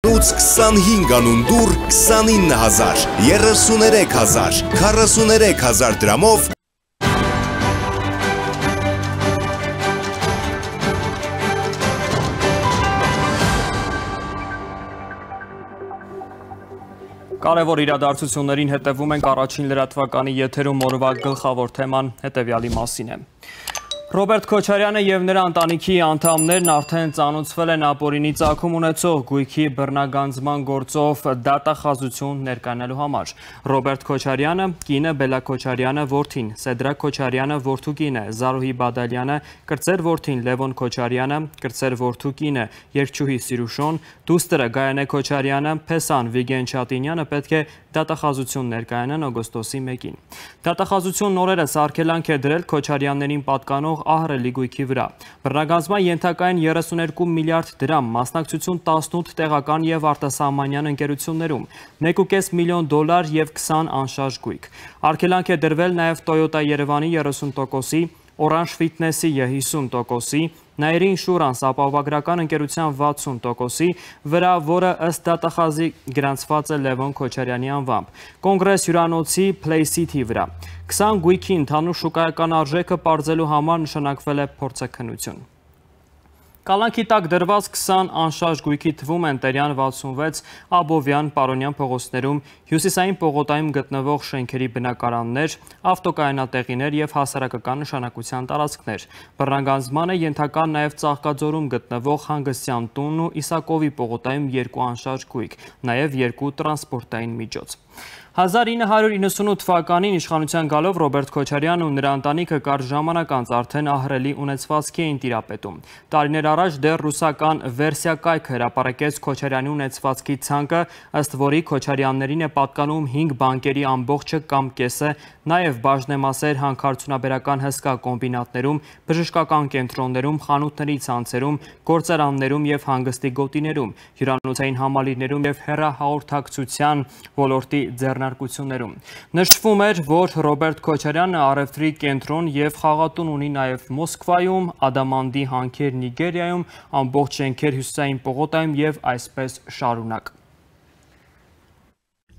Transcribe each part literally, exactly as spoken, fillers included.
ութ քսանհինգ անուն դուր քսանինը հազար, երեսուներեք հազար, քառասուներեք հազար դրամով Կարևոր իրադարձություններին հետևում ենք առաջին լրատվականի եթերում օրվա գլխավոր թեման հետևյալի մասին է։ Ռոբերտ Քոչարյանը և նրա ընտանիքի անդամներն արդեն ծանոթացվել են ապօրինի ծագում ունեցող գույքի բռնագանձման գործով դատախազություն ներկայանալու համար։ Ռոբերտ Քոչարյանը, կինը Բելլա Քոչարյանը, որդին Սեդրակ Քոչարյանը, որդու կինը Զարուհի Բադալյանը, կրտսեր որդին Լևոն Քոչարյանը, կրտսեր որդու կինը երգչուհի Սիրուշոն, դուստրը Գայանե Քոչարյանը, Փեսան Վիգեն Չատինյանը պետք է դատախազություն ներկայանան օգոստոսի մեկին։ Դատախազությունն օրերս արգելանք է դրել Քոչարյաններին պատկանող ահռելի գույքի վրա։ Բռնագանձման ենթակա են երեսուներկու միլիարդ դրամ, մասնակցություն տասնութ տեղական և արտասահմանյան ընկերություններում, մեկ ու կես միլիոն դոլար և քսան անշարժ գույք։ Արգելանք է դրվել նաև Toyota Երևանի երեսուն տոկոսի, Orange Fitness-ի հիսուն տոկոսի, Nairi Insurance ապահովագրական ընկերության վաթսուն տոկոսի վրա, որը ըստ դատախազի գրանցված է Լևոն Քոչարյանի անվամբ, Կոնգրես հյուրանոցի Play-City վրա։ քսան գույքի ընդհանուր շուկայական արժեքը պարզելու համար նշանակվել է փորձաքննություն։ Կալանքի տակ դրված քսան անշարժ գույքի թվում են Տերյան վաթսունվեց, Աբովյան, Պարոնյան փողոցներում, հյուսիսային պողոտայում գտնվող շենքերի բնակարաններ, ավտոկայանատեղիներ և հասարակական նշանակության տարածքներ։ Բռնագանձմանը ենթակա նաև Ծաղկաձորում գտնվող հանգստյան տունն ու Իսակովի պողոտայում երկու անշարժ գույք, նաև երկու տրանսպորտային միջոց։ հազար ինը հարյուր իննսունութ թվականին իշխանության գալով Ռոբերտ Քոչարյանն ու նրա ընտանիքը կարճ ժամանակ անց արդեն ահռելի ունեցվածքի էին տիրապետում։ Տարիներ առաջ դեռ ռուսական Վերսիա կայքը հրապարակեց Քոչարյանի ունեցվածքի ցանկը, ըստ որի Քոչարյաններին է պատկանում հինգ բանկերի ամբողջը կամ կեսը, նաև բաժնեմասեր հանքարդյունաբերական հսկա կոմբինատներում, բժշկական կենտրոններում, խանութների ցանցերում, գործարաններում և հանգստի գոտիներում, հյուրանոցային համալիրներում և հեռահաղորդակցության ոլորտի ձեռնարկություններում։ Նշվում էր, որ Ռոբերտ Քոչարյանը առևտրի կենտրոն և խաղատուն ունի նաև Մոսկվայում, Ադամանդի հանքեր Նիգերիայում, ամբողջ շենքեր հյուսիսային պողոտայում և այսպես շարունակ։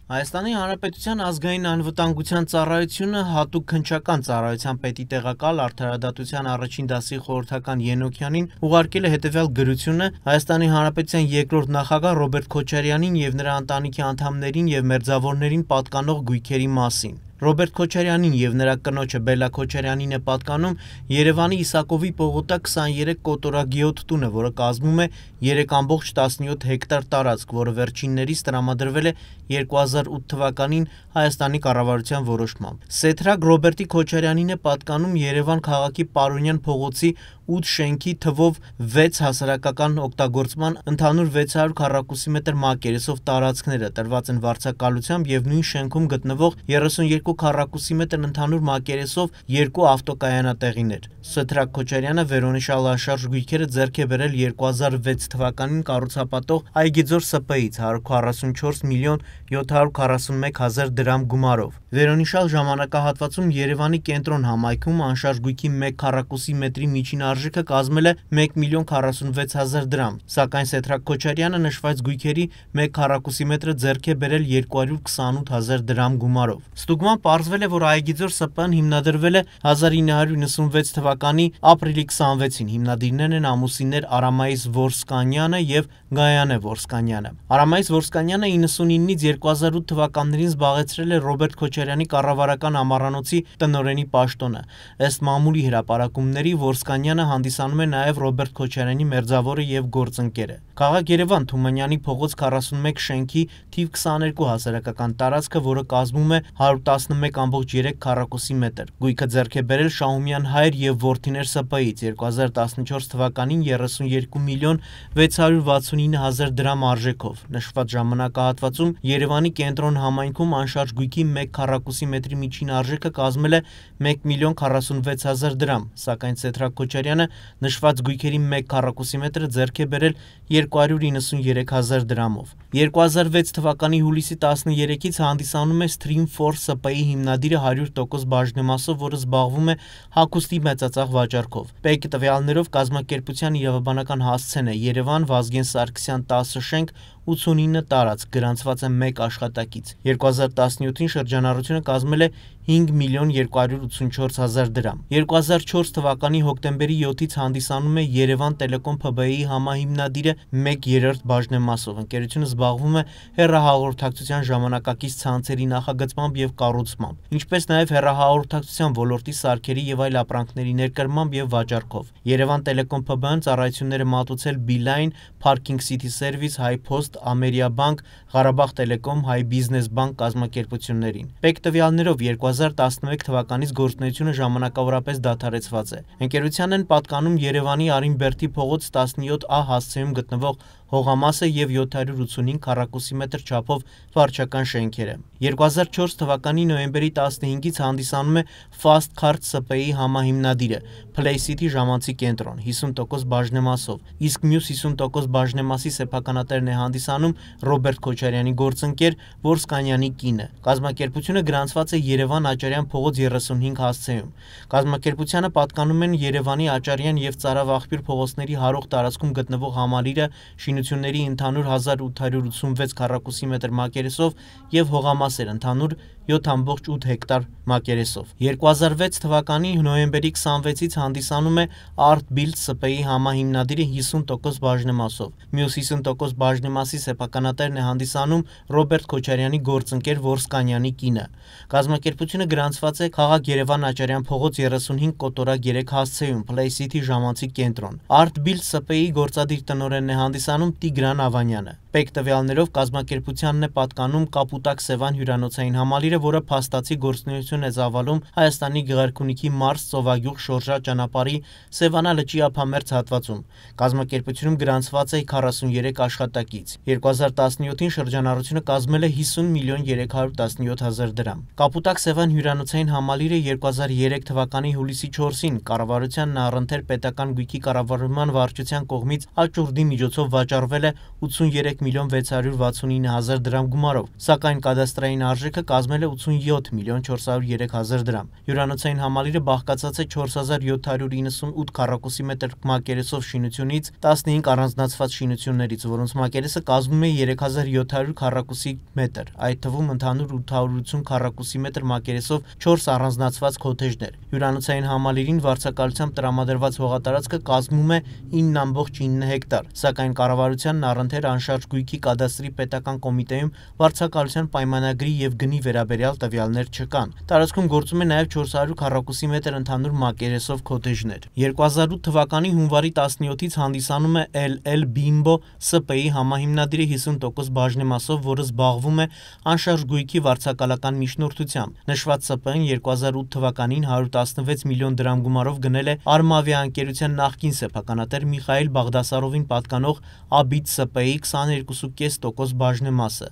Հայաստանի Հանրապետության ազգային անվտանգության ծառայությունը հատուկ քննչական ծառայության պետի տեղակալ արդարադատության առաջին դասի խորհրդական Ենոքյանին ուղարկել է հետևյալ գրությունը Հայաստանի Հանրապետության երկրորդ նախագահ Ռոբերտ Քոչարյանին և նրա ընտանիքի անդամներին և մերձավորներին պատկանող գույքերի մասին։ Ռոբերտ Քոչարյանին և նրա կնոջը Բելլա Քոչարյանին է պատկանում Երևանի Իսակովի պողոտա քսաներեք կոտորագիոտ տունը, որը կազմում է երեք ամբողջ տասնյոթ հեկտար տարածք, որը վերջիններիս տրամադրվել է երկու հազար ութ թվականին Հայաստանի կառավարության որոշմամբ։ Սեդրակ Ռոբերտի Քոչարյանին է պատկանում Երևան քաղաքի Պարոնյան փողոցի ութ շենքի թվով վեց հասարակական օգտագործման ընդհանուր վեց հարյուր քառակուսի մետր մակերեսով տարածքները, տրված են վարձակալությամբ և նույն շենքում գտնվող երեսունյոթ քառակուսի մետր ընդհանուր մակերեսով երկու ավտոկայանատեղիներ։ Սեդրակ Քոչարյանը վերոնշյալ անշարժ գույքերը ձեռք է բերել երկու հազար վեց թվականին կառուցապատող Այգիձոր Ս Պ-ից հարյուր քառասունչորս միլիոն յոթ հարյուր քառասունմեկ հազար դրամ գումարով։ Վերոնշյալ ժամանակահատվածում Երևանի կենտրոն համայնքում անշարժ գույքի մեկ քառակուսի մետրի միջին արժեքը կազմել է մեկ միլիոն քառասունվեց հազար դրամ, սակայն Սեդրակ Քոչարյանը նշված գույքերի մեկ քառակուսի մետրը ձեռք է բերել երկու հարյուր քսանութ հազար դրամ գումարով։ Ստուգման պարզվել է, որ Այգիձոր Ս Պ-ն հիմնադրվել է հազար ինը հարյուր իննսունվեց թվականի ապրիլի քսանվեցին, հիմնադիրներն են ամուսիններ Արամայիս Որսկանյանը և Գայանե Որսկանյանը։ Արամայիս Որսկանյանը իննսունինից երկու հազար ութ թվականներին զբաղեցրել է Ռոբերտ Քոչարյանի կառավարական ամառանոցի տնօրենի պաշտոնը։ Ըստ մամուլի հրապարակումների Որսկանյանը հանդիսանում է նաև Ռոբերտ Քոչարյանի մերձավորը և գործընկերը։ Քաղաք Երևան Թումանյանի փողոց քառասունմեկ շենքի թիվ քսաներկու հասարակական տարածքը, որը կազմում է հարյուր տասնմեկ ամբողջ երեք քառակուսի մետր։ Գույքը ձեռք է բերել Շահումյան հայր և որդիներ Ս Պ-ից երկու հազար տասնչորս թվականին երեսունյոթ միլիոն վեց հարյուր վաթսունինը հազար դրամ արժեքով։ Նշված ժամանակահատվածում Երևանի կենտրոն համայնքում անշարժ գույքի մեկ քառակուսի մետրի միջին արժեքը կազմել է մեկ միլիոն քառասունվեց հազար դրամ, սակայն Սեդրակ Քոչարյանը նշված գույքերի մեկ քառակուսի մետրը ձեռք է բերել երկու հարյուր իննսունյոթ հազար դրամով։ երկու հազար վեց թվականի հուլիսի տասներեքից հանդիսանում է Stream Four Ս Պ-ի հիմնադիրը հարյուր տոկոս բաժնեմասով, որը զբաղվում է հագուստի մեծածախ վաճառքով։ Պեկի տվյալներով կազմակերպության իրավաբանական հասցեն է Երևան, Վազգեն Սարգսյան տասը շենք, ութսունինը տարածք, գրանցված է մեկ աշխատակից։ երկու հազար տասնյոթին շրջանառությունը կազմել է հինգ միլիոն երկու հարյուր ութսունչորս հազար դրամ։ երկու հազար չորս թվականի հոկտեմբերի յոթից հանդիսանում է Երևան Տելեկոմ Փ B I-ի համահիմնադիրը մեկ երրորդ բաժնեմասով։ Ընկերությունը զբաղվում է հեռահաղորդակցության ժամանակակից ցանցերի նախագծմամբ եւ կառուցմամբ, ինչպես նաեւ հեռահաղորդակցության ոլորտի սարքերի եւ այլ ապրանքների ներկրմամբ եւ վաճառքով։ Երևան Տելեկոմ Փ B I-ն ծառայություններ է մատուցել Beeline, Parking City Service, HiPost, Ամերիաբանկ, Ղարաբաղ Տելեկոմ, Հայ Բիզնես Բանկ կազմակերպություններին։ Պեկ տվյալներով երկու հազար տասնմեկ թվականից գործունեությունը ժամանակավորապես դադարեցված է։ Ընկերությանն են պատկանում Երևանի Արինբերդի փողոց տասնյոթ A հասցեում գտնվող հողամասը եւ յոթ հարյուր ութսունհինգ քառակուսի մետր չափով վարչական շենքերը։ երկու հազար չորս թվականի նոյեմբերի տասնհինգից հանդիսանում է Fast Cards P B I համահիմնադիրը Play City ժամանցի կենտրոն հիսուն տոկոս բաժնեմասով, իսկ մյուս հիսուն տոկոս բաժնեմասի սեփականատերն է հանդիսանում Ռոբերտ Քոչարյանի գործընկեր Որսկանյանի կինը։ Կազմակերպությունը գրանցված է Երևան Աճարյան փողոց երեսունհինգ հասցեում։ Կազմակերպությանը պատկանում են Երևանի Աճարյան եւ Ծարավ աղբյուր փողոցների հարող տարածքում գտնվող համալիրը, շինությունների ընդհանուր հազար ութ հարյուր ութսունվեց քառակուսի մետր մակերեսով եւ հողամասեր ընդհանուր յոթ ամբողջ ութ հեկտար մակերեսով։ երկու հազար վեց թվականի նոյեմբերի քսանվեցից հանդիսանում է Art Build S P I համահիմնադիրը հիսուն տոկոս բաժնեմասով։ Մյուս հիսուն տոկոս բաժնեմասի սեփականատերն է հանդիսանում Ռոբերտ Քոչարյանի գործընկեր Որսկանյանի կինը։ Կազմակերպությունը գրանցված է Խաղաղ Երևան Աճարյան փողոց երեսունհինգ կոտորակ երեք հասցեում Play City ժամանցի կենտրոն։ Art Build S P I գործադիր տնօրենն է հանդիսանում Տիգրան Ավանյանը։ Պեկ տվյալներով կազմակերպությանն է պատկանում Կապուտակ Սևան հյուրանոցային համալիրը, որը փաստացի գործունեություն է ծավալում Հայաստանի Գեղարքունիքի Մարս Ծովագյուղ շորժա ճանապարհի Սևանա լճի ափամերձ հատվածում։ Կազմակերպությունում գրանցված է քառասուներեք աշխատակից։ երկու հազար տասնյոթին շրջանառությունը կազմել է հիսուն միլիոն երեք հարյուր տասնյոթ հազար դրամ։ Կապուտակ Սևան հյուրանոցային համալիրը երկու հազար երեք թվականի հուլիսի չորսին կառավարության Նահռընթեր պետական գույքի կառավարման վարչության կողմից աճուրդի միջոցով վաճառվել է ութսուներեք միլիոն վեց հարյուր վաթսունինը հազար դրամ գումարով, սակայն կադաստրային արժեքը կազմել է ութսունյոթ միլիոն չորս հարյուր երեք հազար դրամ։ Հյուրանոցային համալիրը բաղկացած է չորս հազար յոթ հարյուր իննսունութ քառակուսի մետր մակերեսով շինությունից, տասնհինգ առանձնացված շինություններից, որոնց մակերեսը կազմում է երեք հազար յոթ հարյուր քառակուսի մետր, այդ թվում ընդհանուր ութ հարյուր ութսուն քառակուսի մետր մակերեսով չորս առանձնացված քոթեջներ։ Հյուրանոցային համալիրին վարձակալությամբ տրամադրված հողատարածքը կազմում է ինը ամբողջ ինը հեկտար, սակայն կառավարության Նահռընթեր անշարժ գույքի կադաստրի պետական կոմիտեում վարձակալության պայմանագրի եւ գնի վերաբերյալ տվյալներ չկան։ Տարածքում գործում է նաեւ չորս հարյուր քառակուսի մետր ընդհանուր մակերեսով քոթեջներ։ երկու հազար ութ թվականի հունվարի տասնյոթից հանդիսանում է L L Bimbo S P I համահիմնադիրը հիսուն տոկոս բաժնեմասով, որը զբաղվում է անշարժ գույքի վարձակալական միջնորդությամբ։ Նշված S P I-ն երկու հազար ութ թվականին հարյուր տասնվեց միլիոն դրամ գումարով գնել է Արմավիա ընկերության նախկին սեփականատեր Միխայել Բաղդասարովին պատկանող Abit S P I քսաներկու կόμμα պենս տոկոս բաժնեմասը։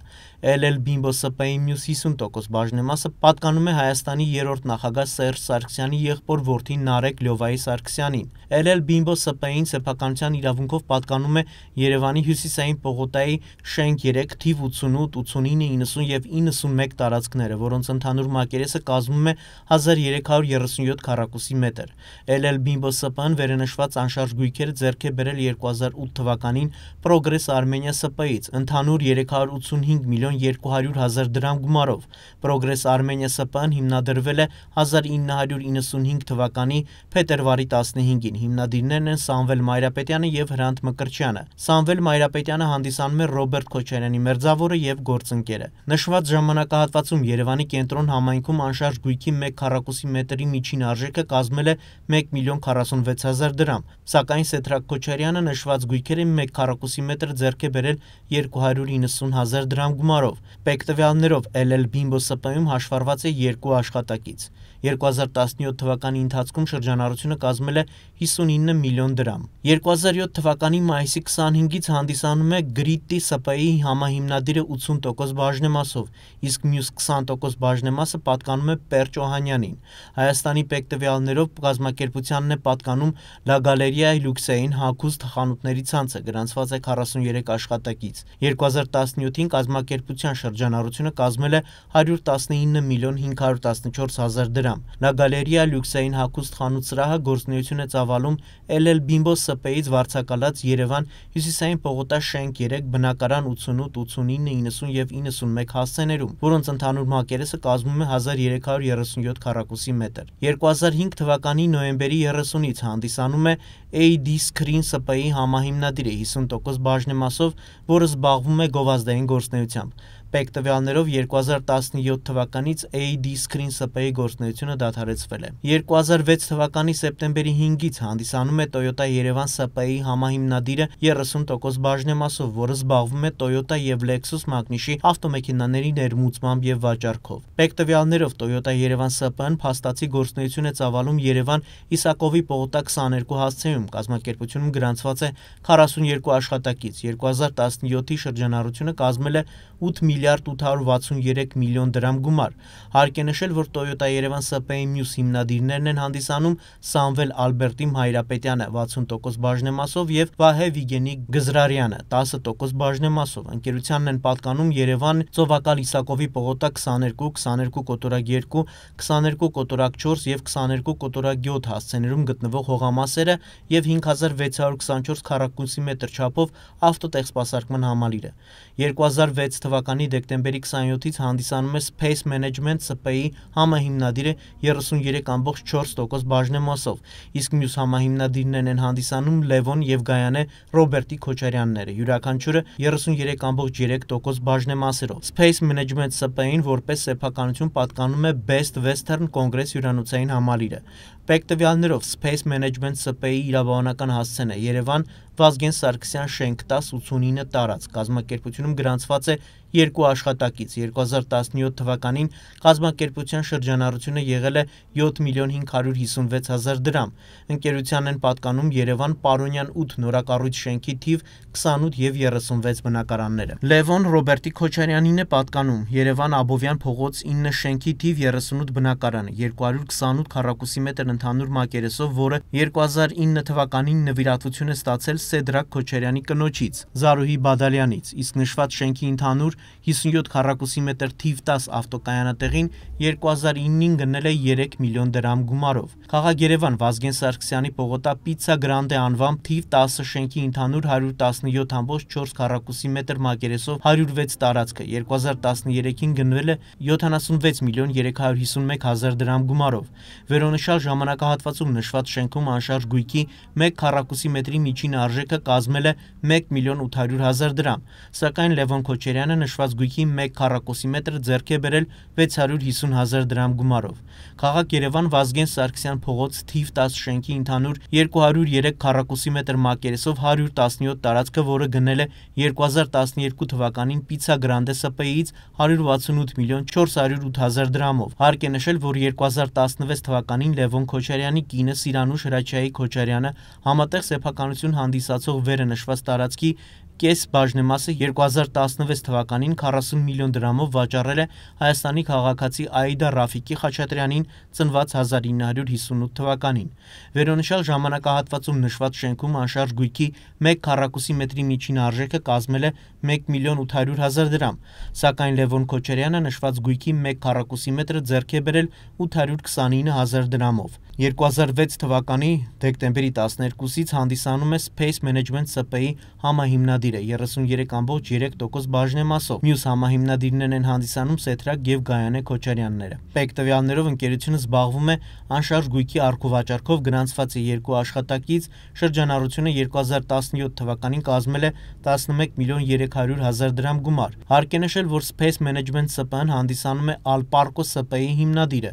L L Bimbo S P I մյուս հիսուն տոկոս բաժնեմասը պատկանում է Հայաստանի երրորդ նախագահ Սերժ Սարգսյանի եղբոր որդի Նարեկ Լյովայի Սարգսյանին։ L L Bimbo S P I-ին սեփականության իրավունքով պատկանում է Երևանի Հյուսիսային պողոտայի շենք երեք, թիվ ութսունութ, ութսունինը, իննսուն եւ իննսունմեկ տարածքները, որոնց ընդհանուր մակերեսը կազմում է հազար երեք հարյուր երեսունյոթ քառակուսի մետր։ L L Bimbo S P I-ն վերենշված անշարժ գույքերը ձեռք է բերել երկու հազար ութ թվականին Progress Armenia S P I-ից ընդհանուր երեք հարյուր ութսունհինգ միլիոն երկու հարյուր հազար դրամ գումարով։ Progress Armenia S P I-ն հիմնադրվել է հազար ինը հարյուր իննսունհինգ թվականի փետրվարի տասնհինգին։ Հիմնադիրներն են Սամվել Մայրապետյանը եւ Հրանտ Մկրտչյանը։ Սամվել Մայրապետյանը հանդիսանում է Ռոբերտ Քոչարյանի մերձավորը եւ գործընկերը։ Նշված ժամանակահատվածում Երևանի կենտրոն համայնքում անշարժ գույքի մեկ քառակուսի մետրի միջին արժեքը կազմել է մեկ միլիոն քառասունվեց հազար դրամ, սակայն Սեդրակ Քոչարյանը նշված գույքերը մեկ քառակուսի մետր ձեռք է բերել երկու հարյուր իննսուն հազար դրամ գումարով։ Պեկ տվյալներով L L Bimbo S P I-ում հաշվառված է երկու աշխատակից։ երկու հազար տասնյոթ թվականի ընթացքում շրջանառությունը կազմել է հիսունինը միլիոն դրամ։ երկու հազար յոթ թվականի մայիսի քսանհինգից հանդիսանում է Grit-ի S P I-ի համահիմնադիրը ութսուն տոկոս բաժնեմասով, իսկ մյուս քսան տոկոս բաժնեմասը պատկանում է Պերճ Օհանյանին։ Հայաստանի պեկ տվյալներով կազմակերպությանն է պատկանում La Galleria Luxe-ին հագուստ խանութների ցանցը, գրանցված գրանցված է քառասուններեք աշխատակից։ երկու հազար տասնյոթին կազմակերպության շրջանառությունը կազմել է հարյուր տասնինը միլիոն հինգ հարյուր տասնչորս հազար դրամ։ Լա Գալերիա լյուքսային հագուստ խանութ սրահը գործունեություն է ծավալում Էլ Էլ Bimbo S P-ից վարձակալած Երևան Հյուսիսային պողոտա շենք երեք բնակարան ութսունութ, ութսունինը, իննսուն եւ իննսունմեկ հասցեներում, որոնց ընդհանուր մակերեսը կազմում է հազար երեք հարյուր երեսունյոթ քառակուսի մետր։ երկու հազար հինգ թվականի նոյեմբերի երեսունից հանդիսանում է A D Screen S P-ի համահիմնադիրը հիսուն տոկոս բաժնեմասով, որը զբաղվում է գովազդային գործունեությամբ։ Պեկ տվյալներով երկու հազար տասնյոթ թվականից A D Screen S P-ի գործունեությունը դադարեցվել է։ երկու հազար վեց թվականի սեպտեմբերի հինգից հանդիսանում է Toyota Yerevan S P-ի համահիմնադիրը երեսուն տոկոս բաժնեմասով, որը զբաղվում է Toyota եւ Lexus մագնիշի ավտոմեքենաների ներմուծմամբ եւ վաճառքով։ Պեկ տվյալներով Toyota Yerevan S P-ն փաստացի գործունեություն է ծավալում Երևան Իսակովի պողոտա քսաներկու հասցեում, կազմակերպությունում գրանցված է քառասուներկու աշխատակից։ երկու հազար տասնյոթի շրջանառությունը կազմել է ութ միլիարդ ութ հարյուր վաթսուներեք միլիոն դրամ գումար։ Հարկ է նշել, որ Toyota Yerevan S P-ի մյուս հիմնադիրներն են հանդիսանում Սամվել Ալբերտի Մայրապետյանը վաթսուն տոկոս բաժնեմասով եւ Վահե Վիգենի Գզրարյանը տասը տոկոս բաժնեմասով։ Ընկերությանն են պատկանում Երևան Ծովակալ Իսակովի պողոտա քսաներկու, քսաներկու կոտորակ երկու, քսաներկու կոտորակ չորս եւ քսաներկու կոտորակ յոթ հասցեներում գտնվող հողամասերը եւ հինգ հազար վեց հարյուր քսանչորս քառակուսի մետր չափով ավտոտեխսպասարկման համալիրը։ երկու հազար վեց թվականի դեկտեմբերի քսանյոթից հանդիսանում է Space Management S P-ի համահիմնադիրը երեսուներեք ամբողջ չորս տոկոս բաժնեմասով, իսկ մյուս համահիմնադիրներն են հանդիսանում Լևոն եւ Գայանե Ռոբերտի Քոչարյանները, յուրաքանչյուրը երեսուներեք ամբողջ երեք տոկոս բաժնեմասերով։ Space Management S P-ին որպես սեփականություն պատկանում է Best Western Congress հյուրանոցային համալիրը։ Պեկ տվյալներով Space Management S P-ի իրավաբանական հասցեն է Երևան Վազգեն Սարգսյան շենք տաս ութսունինը տարածք, կազմակերպությունում գրանցված է երկու աշխատակից։ երկու հազար տասնյոթ թվականին կազմակերպության շրջանառությունը եղել է յոթ միլիոն հինգ հարյուր հիսունվեց հազար դրամ։ Ընկերությանն են պատկանում Երևան Պարոնյան ութ նորակառույց շենքի թիվ քսանութ եւ երեսունվեց բնակարանները։ Լևոն Ռոբերտի Քոչարյանին է պատկանում Երևան Աբովյան փողոց ինը շենքի թիվ երեսունութ բնակարանը, երկու հարյուր քսանութ քառակուսի մետր ընդհանուր մակերեսով, որը երկու հազար ինը թվականին նվիրատվություն է ստացել Սեդրակ Քոչարյանի կնոջից Զարուհի Բադալյանից, իսկ նշված շենքի ընդհանուր հիսունյոթ քառակուսի մետր թիվ տաս ավտոկայանատեղին երկու հազար ինին գնել է երեք միլիոն դրամ գումարով։ Խաղաղ Երևան Վազգեն Սարգսյանի պողոտա Պիցցա Գրանդե անվամբ թիվ տասը շենքի ընդհանուր հարյուր տասնյոթ ամբողջ չորս քառակուսի մետր մակերեսով հարյուր վեց տարածքը երկու հազար տասներեքին գնվել է յոթանասունվեց միլիոն երեք հարյուր հիսունմեկ հազար դրամ գումարով։ Վերոնշյալ ժամանակահատվածում նշված շենքում անշարժ գույքի մեկ քառակուսի մետրի միջին արժեքը կազմել է մեկ միլիոն ութ հարյուր հազար դրամ, սակայն Լևոն Քոչարյանը նշված գույքի մեկ քառակուսի մետր ձեռք է բերել վեց հարյուր հիսուն հազար դրամ գումարով։ Խաղաղ Երևան Վազգեն Սարգսյան փողոց թիվ տաս շենքի ընդհանուր երկու հարյուր երեք քառակուսի մետր մակերեսով հարյուր տասնյոթ տարածքը, որը գնել է երկու հազար տասներկու թվականին Պիցցա Գրանդե S P-ից հարյուր վաթսունութ միլիոն չորս հարյուր ութ հազար դրամով։ Հարկ է նշել, որ երկու հազար տասնվեց թվականին Լևոն Քոչարյանի կինը Սիրանուշ Հրաչյայի Քոչարյանը համատեղ սեփականություն հանդիսացող վերը նշված տարածքի կես բաժնեմասը երկու հազար տասնվեց թվականին քառասուն միլիոն դրամով վաճառել է Հայաստանի քաղաքացի Աիդա Ռաֆիկի Խաչատրյանին ծնված հազար ինը հարյուր հիսունութ թվականին։ Վերոնշյալ ժամանակահատվածում նշված շենքում անշարժ գույքի մեկ քառակուսի մետրի միջին արժեքը կազմել է մեկ միլիոն ութ հարյուր հազար դրամ, սակայն Լևոն Քոչարյանը նշված գույքի մեկ քառակուսի մետրը ձեռք է բերել ութ հարյուր քսանինը հազար դրամով։ երկու հազար վեց թվականի դեկտեմբերի տասներկուսից հանդիսանում է Space Management S P-ի համահիմնադիրը երեսուներեք ամբողջ երեք տոկոս բաժնեմասով։ Մյուս համահիմնադիրներն են հանդիսանում Սեդրակ եւ Գայանե Քոչարյանները։ Պեկ տվյալներով ընկերությունը զբաղվում է անշարժ գույքի առքուվաճառքով, գրանցված է երկու աշխատակից, շրջանառությունը երկու հազար տասնյոթ թվականին կազմել է տասնմեկ միլիոն երեք հարյուր հազար դրամ գումար։ Հարկ է նշել, որ Space Management S P-ն հանդիսանում է Alparco S P-ի հիմնադիրը։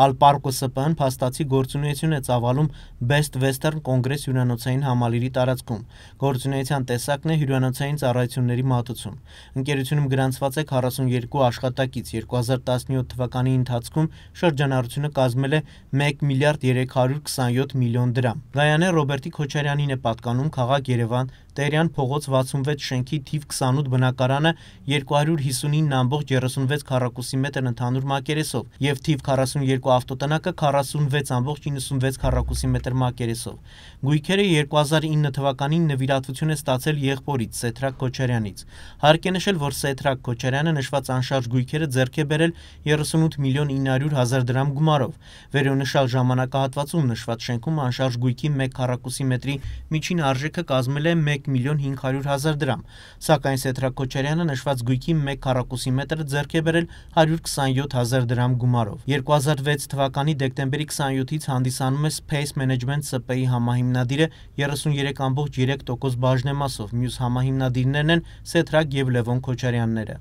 Alparco S P-ն փաստացի գործունեություն է ծավալում Best Western Congress հյուրանոցային համալիրի տարածքում։ Գործունեության տեսակն է հյուրանոցային ծառայությունների մատուցում։ Ընկերությունում գրանցված է քառասուներկու աշխատակից, երկու հազար տասնյոթ թվականի ընթացքում շրջանառությունը կազմել է մեկ միլիարդ երեք հարյուր քսանյոթ միլիոն դրամ։ Գայանե Ռոբերտի Քոչարյանին է պատկանում Խաղաղ Երևան Տերյան փողոց վաթսունվեց շենքի թիվ քսանութ բնակարանը երկու հարյուր հիսունինը ամբողջ երեսունվեց քառակուսի մետր ընդհանուր մակերեսով եւ թիվ քառասունյոթ ավտոտնակը քառասունվեց ամբողջ իննսունվեց քառակուսի մետր մակերեսով։ Գույքերը երկու հազար ինը թվականին նվիրատվություն է ստացել եղբորից Սեդրակ Քոչարյանից։ Հարկ է նշել, որ Սեդրակ Քոչարյանը նշված անշարժ գույքերը ձեռք է բերել երեսունութ միլիոն ինը հարյուր հազար դրամ գումարով։ Վերոնշյալ ժամանակահատվածում նշված շենքում անշարժ գույքի մեկ քառակուսի մետրի միջին արժեքը կազմել է մեկ միլիոն հինգ հարյուր հազար դրամ, սակայն Սեդրակ Քոչարյանը նշված գույքի մեկ քառակուսի մետրը ձեռք է բերել հարյուր քսանյոթ հազար դրամ գումարով։ երկու հազար վեց թվականի դեկտեմբերի քսանյոթից հանդիսանում է Space Management S P-ի համահիմնադիրը երեսունյոթ ամբողջ երեք տոկոս բաժնեմասով, մյուս համահիմնադիրներն են Սեդրակ եւ Լևոն Քոչարյանները։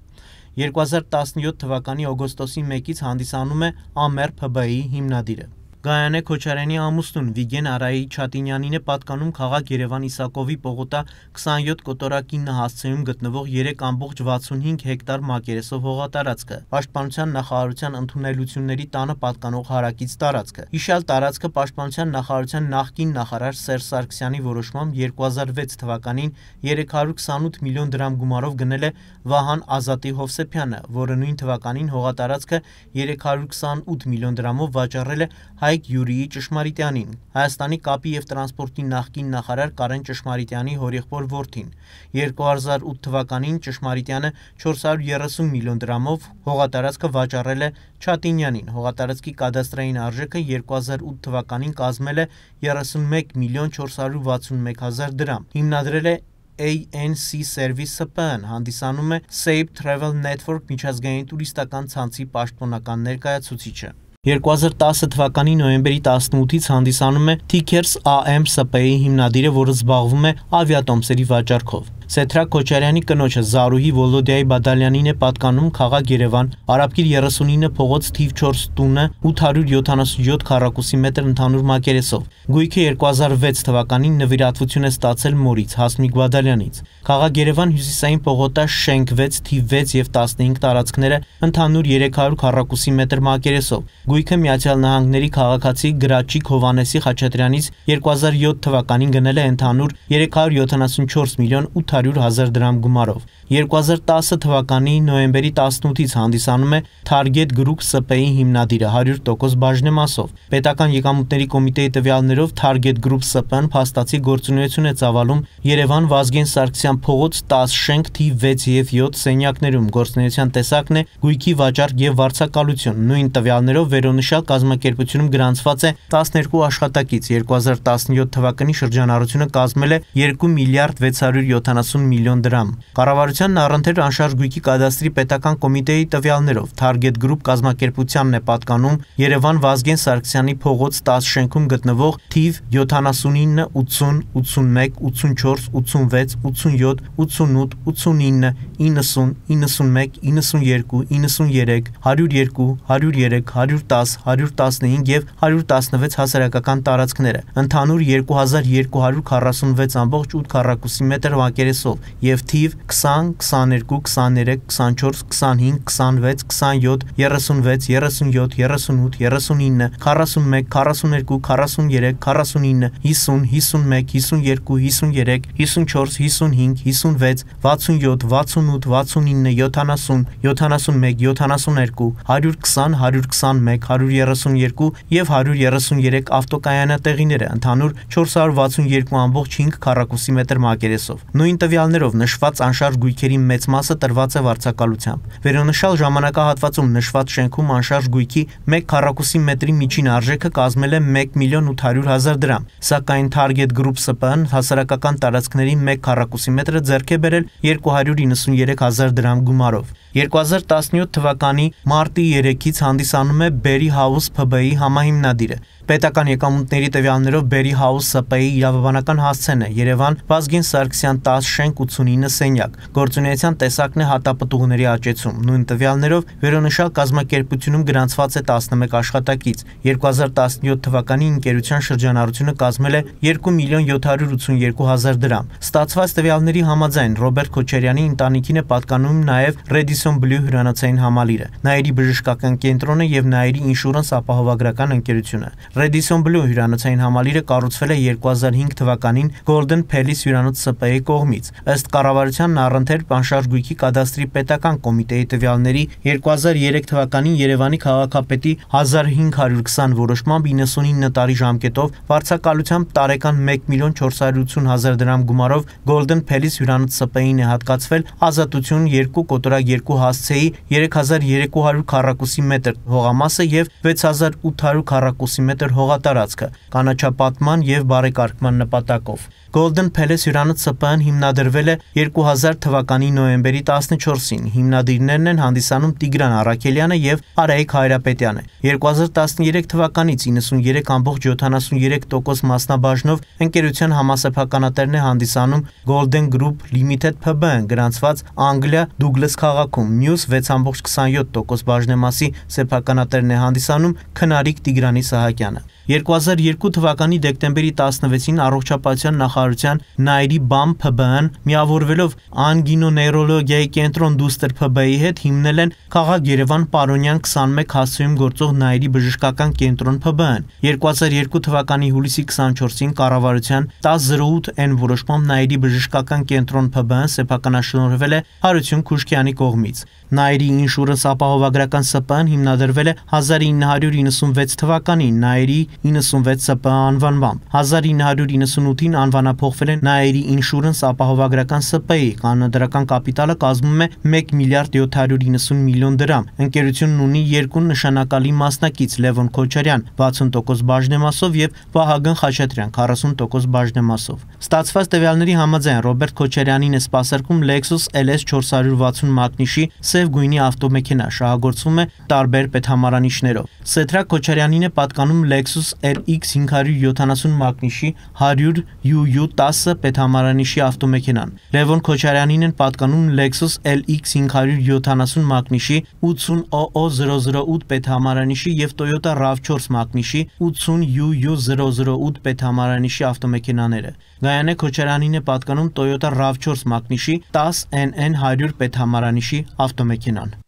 երկու հազար տասնյոթ թվականի օգոստոսի մեկից հանդիսանում է Ամեր P B-ի հիմնադիրը։ Գայանե Քոչարյանի ամուսնուն Վիգեն Արայի Չատինյանին է պատկանում քաղաք Երևան Իսակովի պողոտա քսանյոթ կոտորակի ինը հասցեում գտնվող երեք ամբողջ վաթսունհինգ հեկտար մակերեսով հողատարածքը, Պաշտպանության նախարարության ընդունելությունների տանը պատկանող հարակից տարածքը։ Հիշյալ տարածքը Պաշտպանության նախարարության նախկին նախարար Սերժ Սարգսյանի որոշմամբ երկու հազար վեց թվականին երեք հարյուր քսանութ միլիոն դրամ գումարով գնել է Վահան Ազատի Հովսեփյանը, որը նույն թվականին հողատարածքը երեք հարյուր քսանութ միլիոն դրամով վաճառել է Հայկ Յուրիի Ճշմարիտյանին, Հայաստանի կապի եւ տրանսպորտի նախկին նախարար Կարեն Ճշմարիտյանի հորեղբոր որդին։ երկու հազար ութ թվականին Ճշմարիտյանը չորս հարյուր երեսուն միլիոն դրամով հողատարածքը վաճառել է Չատինյանին։ Հողատարածքի կադաստրային արժեքը երկու հազար ութ թվականին կազմել է երեսունմեկ միլիոն չորս հարյուր վաթսունմեկ հազար դրամ։ Հիմնադրել է A N C Service S P N, հանդիսանում է Safe Travel Network միջազգային տուրիստական ցանցի պաշտոնական ներկայացուցիչը։ երկու հազար տասը թվականի նոյեմբերի տասնութից հանդիսանում է Tickers A M S P-ի հիմնադիրը, որը զբաղվում է ավիատոմսերի վաճառքով։ Սեդրակ Քոչարյանի կնոջը Զարուհի Վոլոդիայի Բադալյանին է պատկանում քաղաք Երևան, Արաբկիր երեսունինը փողոց թիվ չորս տունը ութ հարյուր յոթանասունյոթ քառակուսի մետր ընդհանուր մակերեսով։ Գույքը երկու հազար վեց թվականին նվիրատվություն է ստացել մորից Հասմիկ Բադալյանից։ Քաղաք Երևան հյուսիսային պողոտա շենք վեց թիվ վեց եւ տասնհինգ տարածքները ընդհանուր երեք հարյուր քառակուսի մետր մակերեսով։ Գույքը Միացյալ Նահանգների քաղաքացի Գրաչիկ Հովանեսի Խաչատրյանից երկու հազար յոթ թվականին գնել է ընդհանուր երեք հարյուր յոթանասունչորս միլիոն ութ հարյուր հազար դրամ գումարով։ երկու հազար տասը թվականի նոյեմբերի տասնութից հանդիսանում է Target Group S P-ի հիմնադիրը հարյուր տոկոս բաժնեմասով։ Պետական եկամուտների կոմիտեի տվյալներով Target Group S P-ն փաստացի գործունեություն է ծավալում Երևան Վազգեն Սարգսյան փողոց տաս շենք թիվ վեց եւ յոթ սենյակներում։ Գործունեության տեսակն է գույքի վաճառք եւ վարձակալություն։ Նույն տվյալներով վերոնշյալ կազմակերպությունում գրանցված է տասներկու աշխատակից։ երկու հազար տասնյոթ թվականի շրջանառությունը կազմել է երկու միլիարդ վեց հարյուր յոթանասուն միլիոն դրամ։ Կառավարությանն առընթեր անշարժ գույքի կադաստրի պետական կոմիտեի տվյալներով Target Group կազմակերպությանն է պատկանում Երևան Վազգեն Սարգսյանի փողոց տաս շենքում գտնվող թիվ յոթանասունինը, ութսուն, ութսունմեկ, ութսունչորս, ութսունվեց, ութսունյոթ, ութսունութ, ութսունինը, իննսուն, իննսունմեկ, իննսունյերկու, իննսուներեք, հարյուր երկու, հարյուր երեք, հարյուր տաս, հարյուր տասնհինգ եւ հարյուր տասնվեց հասարակական տարածքները։ Ընդհանուր երկու հազար երկու հարյուր քառասունվեց ամբողջ ութ քառակուսի մետր մակերեսով եւ թիվ քսան, քսաներկու, քսաներեք, քսանչորս, քսանհինգ, քսանվեց, քսանյոթ, երեսունվեց, երեսունյոթ, երեսունութ, երեսունինը, քառասունմեկ, քառասուներկու, քառասուներեք, քառասունինը, հիսուն, հիսունմեկ, հիսուներկու, հիսուներեք, հիսունչորս, հիսունհինգ, հիսունվեց, վաթսունյոթ, վաթսունութ, վաթսունինը, յոթանասուն, յոթանասունմեկ, յոթանասուներկու, հարյուր քսան, հարյուր քսանմեկ, հարյուր երեսունյերկու եւ հարյուր երեսուներեք ավտոկայանատեղիները, ընդհանուր չորս հարյուր վաթսունյերկու ամբողջ հինգ քառակուսի մետր մակերեսով։ Նույն տվյալներով նշված անշարժ գույքերի մեծ մասը տրված է վարձակալությամբ։ Վերոնշյալ ժամանակահատվածում նշված շենքում անշարժ գույքի մեկ քառակուսի մետրի միջին արժեքը կազմել է մեկ միլիոն ութ հարյուր հազար դրամ, սակայն Target Group S P-ն հասարակական տարածքների մեկ քառակուսի մետրը ձեռք է բերել երկու հարյուր իննսունյերեք հազար դրամ գումարով։ երկու հազար տասնյոթ թվականի մարտի երեքից հանդիսանում է Berry House P B-ի համահիմնադիրը։ Պետական եկամուտների տվյալներով Berry House S P-ի իրավաբանական հասցեն է Երևան Վազգեն Սարգսյան տաս շենք ութսունինը սենյակ։ Գործունեության տեսակն է հատապտուղների աճեցում։ Նույն տվյալներով վերոնշյալ կազմակերպությունում գրանցված է տասնմեկ աշխատակից։ երկու հազար տասնյոթ թվականի ընկերության շրջանառությունը կազմել է երկու միլիոն յոթ հարյուր ութսունյերկու հազար դրամ։ Ստացված տվյալների համաձայն Ռոբերտ Քոչարյանի ընտանիքին է պատկանում նաև Redis Radisson Blu հյուրանոցային համալիրը, Նաիրի բժշկական կենտրոնը եւ Նաիրի ինշուրանս ապահովագրական ընկերությունը։ Radisson Blu հյուրանոցային համալիրը կառուցվել է երկու հազար հինգ թվականին Golden Palace հյուրանոց Սի Պի Էի կողմից։ Ըստ կառավարության առընթեր բանշարժ գույքի կադաստրի պետական կոմիտեի տվյալների երկու հազար երեք թվականին Երևանի քաղաքապետի հազար հինգ հարյուր քսան որոշմամբ իննսունինը տարի ժամկետով վարձակալությամբ տարեկան մեկ միլիոն չորս հարյուր ութ հազար դրամ գումարով Golden Palace հյուրանոց Սի Պի Էին է հատկացվել Ազատություն երկու կոտորակ երկու հասցեի երեք հազար երեք հարյուր քառակուսի մետր հողամասը եւ վեց հազար ութ հարյուր քառակուսի մետր հողատարածքը կանաչապատման եւ բարեկարգման նպատակով։ Golden Palace հյուրանոց Սի Պի Էն հիմնադրվել է երկու հազար թվականի նոյեմբերի տասնչորսին։ Հիմնադիրներն են հանդիսանում Տիգրան Առաքելյանը եւ Արայիկ Հայրապետյանը։ երկու հազար տասներեք թվականից իննսուններեք ամբողջ յոթանասուներեք տոկոս մասնաբաժնով ընկերության համասեփականատերն է հանդիսանում Golden Group Limited Փ Բ Ն գրանցված Անգլիա Դուգլաս քաղաքում։ Մյուս վեց ամբողջ քսանյոթ տոկոս բաժնեմասի սեփականատերն է հանդիսանում Քնարիկ Տիգրանի Սահակյանը։ երկու հազար երկու թվականի դեկտեմբերի տասնվեցին առողջապահության նախարարության Նաիրի բամ Փ Բ Ն միավորվելով անգինոնեյրոլոգիայի կենտրոն դուստր Փ Բ Ի հետ հիմնել են Խաղաղ Երևան Պարոնյան քսանմեկ հասցեում գործող Նաիրի բժշկական կենտրոն Փ Բ Ն։ երկու հազար երկու թվականի հուլիսի քսանչորսին կառավարության տասը զրո ութ Ն որոշմամբ Նաիրի բժշկական կենտրոն Փ Բ Ն սեփականաշնորհվել է Հարություն Քուշկյանի կողմից։ Նաիրի ինշուրանս ապահովագրական Սի Պի Էն հիմնադրվել է հազար ինը հարյուր իննսունվեց թվականին Նաիրի իննսունվեց Սի Պի Է անվանմամբ։ հազար ինը հարյուր իննսունութին անվանափոխվել է Նաիրի ինշուրանս ապահովագրական Սի Պի Էի, կանոնադրական կապիտալը կազմում է մեկ միլիարդ յոթ հարյուր իննսուն միլիոն դրամ։ Ընկերությունն ունի երկու նշանակալի մասնակից՝ Լևոն Քոչարյան վաթսուն տոկոս բաժնեմասով եւ Վահագն Խաչատրյան քառասուն տոկոս բաժնեմասով։ Ստացված տվյալների համաձայն Ռոբերտ Քոչարյանին է սպասարկում Lexus L S չորս հարյուր վաթսուն մակնիշի սև գույնի ավտոմեքենա, շահագործվում է տարբեր պետհամարանիշներով։ Սեթրակ Քոչարյանին է պատկանում Lexus L X հինգ հարյուր յոթանասուն մակնիշի հարյուր յու յու տասը պետհամարանիշի ավտոմեքենան։ Լևոն Քոչարյանին են պատկանում Lexus L X հինգ հարյուր յոթանասուն մակնիշի ութսուն O O զրո զրո ութ պետհամարանիշի եւ Toyota RAV չորս մակնիշի ութսուն յու յու զրո զրո ութ պետհամարանիշի ավտոմեքենաները։ Գայանե Քոչարյանին է պատկանում Toyota RAV չորս մակնիշի տասը N N հարյուր պետհամարանիշի ավտոմեքենան։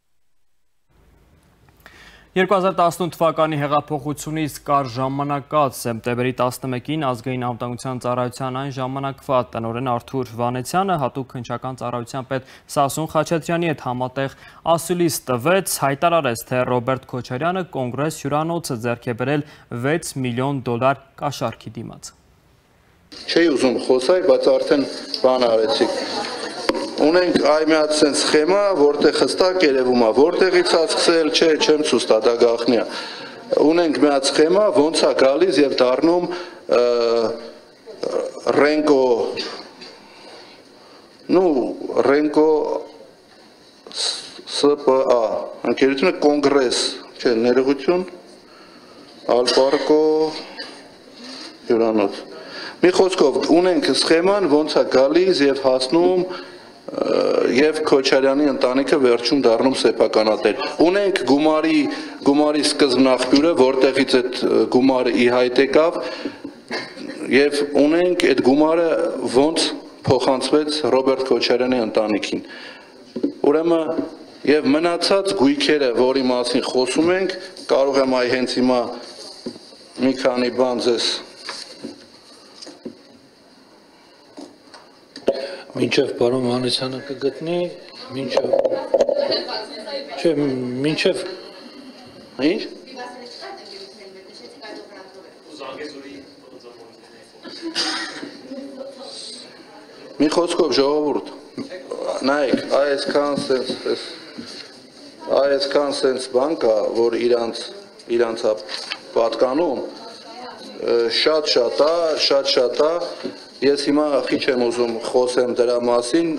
երկու հազար տասնութ թվականի հեղափոխությունից կար ժամանակած սեպտեմբերի տասնմեկին ազգային անվտանգության ծառայության այն ժամանակվա տնօրեն Արթուր Վանեցյանը հատուկ քննչական ծառայության պետ Սասուն Խաչատրյանի հետ համատեղ ասուլիս տվեց, հայտարարեց, թե Ռոբերտ Քոչարյանը կոնգրես հյուրանոցը ձեռք է բերել վեց միլիոն դոլար կաշառքի դիմաց։ Չէի ուզում խոսալ, բայց արդեն բան արեցիք։ Ունենք այ մի հատ սենց սխեմա, որտեղ հստակ երևում է, որտեղից է սկսել, չէ, չեմ ցույց տա, դա գաղտնի է։ Ունենք մի հատ սխեմա, ոնց է գալիս եւ դառնում Ռենկո, նու Ռենկո Սի Պի Է, ընկերությունը կոնգրես, չէ, ներողություն, Ալպարկո հյուրանոց։ Մի խոսքով ունենք սխեման, ոնց է գալիս եւ հասնում եւ Քոչարյանի ընտանիքը վերջում դառնում սեփականատեր։ Ունենք գումարի գումարի սկզբնաղբյուրը, որտեղից այդ գումարը ի հայտ եկավ եւ ունենք այդ գումարը ոնց փոխանցվեց Ռոբերտ Քոչարյանի ընտանիքին։ Ուրեմն եւ մնացած գույքերը, որի մասին խոսում ենք, կարող եմ այ հենց հիմա մի քանի բան ձեզ Մինչև պարոն Վանեցյանը կգտնի, մինչև, չէ, մինչև, ինչ? Մի խոսքով ժողովուրդ, նայեք, այսքան սենց, այսքան սենց բան կա, որ իրանց, իրանց պատկանում, շատ-շատ է, շատ-շատ է, Ես հիմա խիչ եմ ուզում խոսեմ դրա մասին,